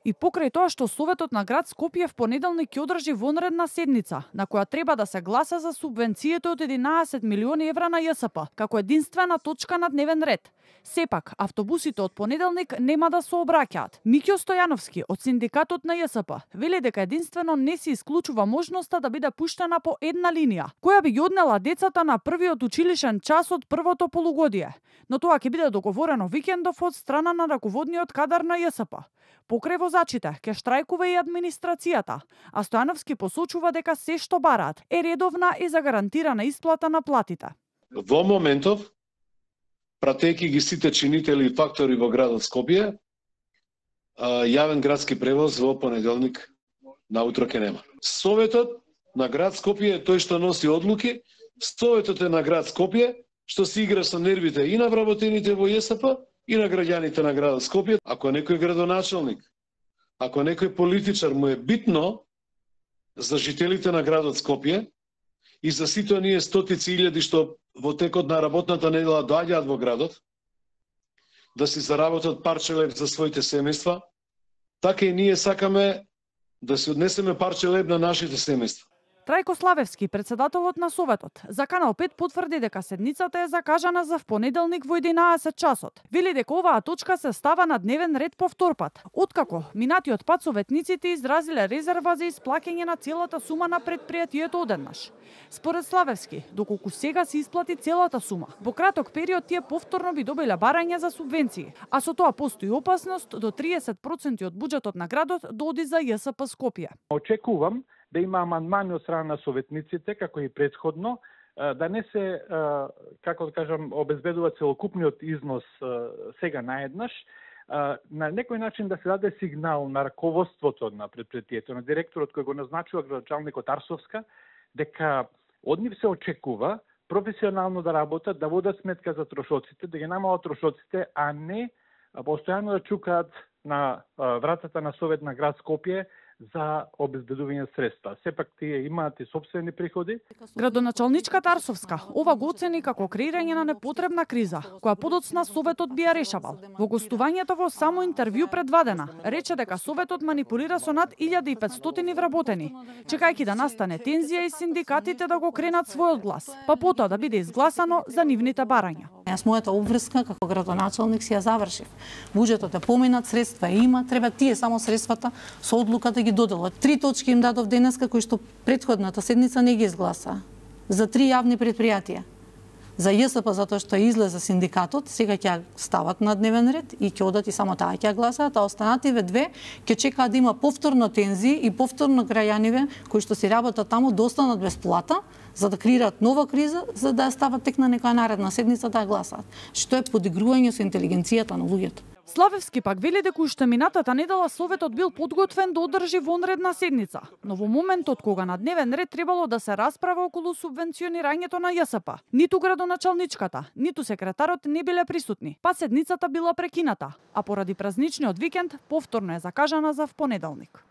И покрај тоа што Советот на град Скопје в понеделник ќе одржи вонредна седница, на која треба да се гласа за субвенциите од 11 милиони евра на ЈСП, како единствена точка на дневен ред. Сепак, автобусите од понеделник нема да се обраќаат. Миќо Стојановски од синдикатот на ЈСП вели дека единствено не се исклучува можноста да биде пуштена по една линија, која би ги однела децата на првиот училишен час од првото полугодие. Но тоа ќе биде договорено викендов од страна на раководниот кадар на ЈСП. Покрај возачите ќе штрајкува и администрацијата, а Стојановски посочува дека се што бараат е редовна и загарантирана исплата на платите. Во моментов, пратејќи ги сите чинители и фактори во градот Скопје, јавен градски превоз во понеделник наутро ќе нема. Советот на град Скопје е тој што носи одлуки, Советот е на град Скопје што се игра со нервите и на вработените во ЈСП и на граѓаните на градот Скопје. Ако некој градоначалник, ако некој политичар му е битно за жителите на градот Скопје и за сите оние стотици илјади што во текот на работната недела доаѓаат во градот, да си заработат парче леб за своите семејства, така и ние сакаме да се однесеме парче леб на нашите семејства. Трајко Славевски, председателот на Советот, за Канал 5 потврди дека седницата е закажана за понеделник во 11 часот. Вели дека оваа точка се става на дневен ред по втор пат, откако минатиот пат советниците изразиле резерва за исплаќање на целата сума на предпријатието одеднаш. Според Славевски, доколку сега се исплати целата сума, во краток период тие повторно би добиле барања за субвенции, а со тоа постои опасност до 30% од буџетот на градот да оди за ЈСП Скопје. Очекувам да има амандмани од страна на советниците, како и претходно, да не се, како да кажам, обезбедува целокупниот износ сега наеднаш, на некој начин да се даде сигнал на раководството на предпријатието, на директорот кој го назначува градоначалникот Арсовска, дека од нив се очекува професионално да работат, да водат сметка за трошоците, да ги намалат трошоците, а не постојано да чукаат на вратата на Совет на град Скопје за обезбедување средства. Сепак тие имаат и сопствени приходи. Градоначалничката Арсовска ова го оцени како креирање на непотребна криза, која подоцна Советот би ја решавал. Во гостувањето во само интервју пред Вадена, рече дека Советот манипулира со над 1500 вработени, чекајќи да настане тензија и синдикатите да го кренат својот глас, па потоа да биде изгласано за нивните барања. Јас мојата обврска како градоначалник си ја завршив. Буџетот е поминат, средства има, треба тие само средствата со одлука да ги доделат. 3 точки им дадов денеска кои што претходната седница не ги изгласа. За 3 јавни предпријатија. За ЈСП затоа што излезе синдикатот, сега ќе стават на дневен ред и ќе одат и само таа ќе гласаат, а останативе две ќе чекаат да има повторно тензии и повторно граѓаниве кои што си работат таму да останат без плата, за да креираат нова криза, за да ја стават тек на некоја наредна седница да ја гласаат. Што е подигрување со интелигенцијата на луѓето. Славевски пак вели дека уште минатата недела Советот бил подготвен да одржи вонредна седница, но во моментот кога на дневен ред требало да се расправа околу субвенционирањето на ЈСП, ниту градоначалничката, ниту секретарот не биле присутни, па седницата била прекината, а поради празничниот викенд повторно е закажана за понеделник.